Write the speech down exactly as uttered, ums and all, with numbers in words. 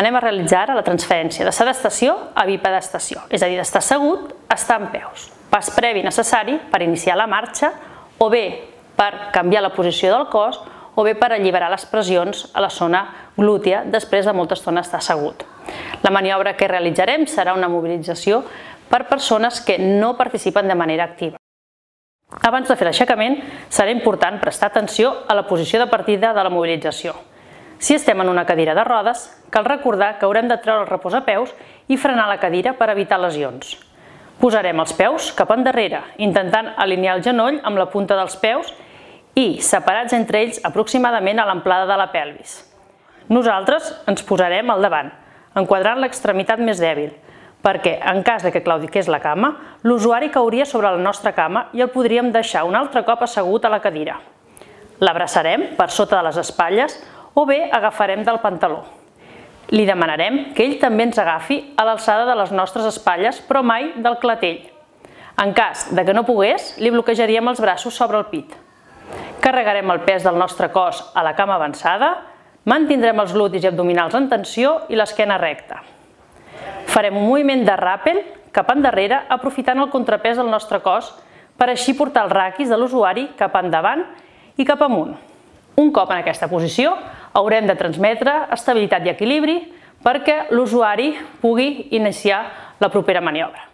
Anem a realitzar ara la transferència de sedestació a bipedestació, és a dir, d'estar assegut a estar en peus. Pas previ necessari per iniciar la marxa, o bé per canviar la posició del cos, o bé per alliberar les pressions a la zona glútia després de molta estona estar assegut. La maniobra que realitzarem serà una mobilització per persones que no participen de manera activa. Abans de fer l'aixecament, serà important prestar atenció a la posició de partida de la mobilització. Si estem en una cadira de rodes, cal recordar que haurem de treure el reposapeus i frenar la cadira per evitar lesions. Posarem els peus cap endarrere, intentant alinear el genoll amb la punta dels peus i separats entre ells aproximadament a l'amplada de la pelvis. Nosaltres ens posarem al davant, enquadrant l'extremitat més dèbil, perquè en cas que claudiqués la cama, l'usuari cauria sobre la nostra cama i el podríem deixar un altre cop assegut a la cadira. L'abraçarem per sota de les espatlles o bé agafarem del pantaló. Li demanarem que ell també ens agafi a l'alçada de les nostres espatlles, però mai del clatell. En cas de que no pogués, li bloquejaríem els braços sobre el pit. Carregarem el pes del nostre cos a la cama avançada, mantindrem els glutis i abdominals en tensió i l'esquena recta. Farem un moviment de ràpel cap endarrere aprofitant el contrapès del nostre cos per així portar els raquis de l'usuari cap endavant i cap amunt. Un cop en aquesta posició, haurem de transmetre estabilitat i equilibri perquè l'usuari pugui iniciar la propera maniobra.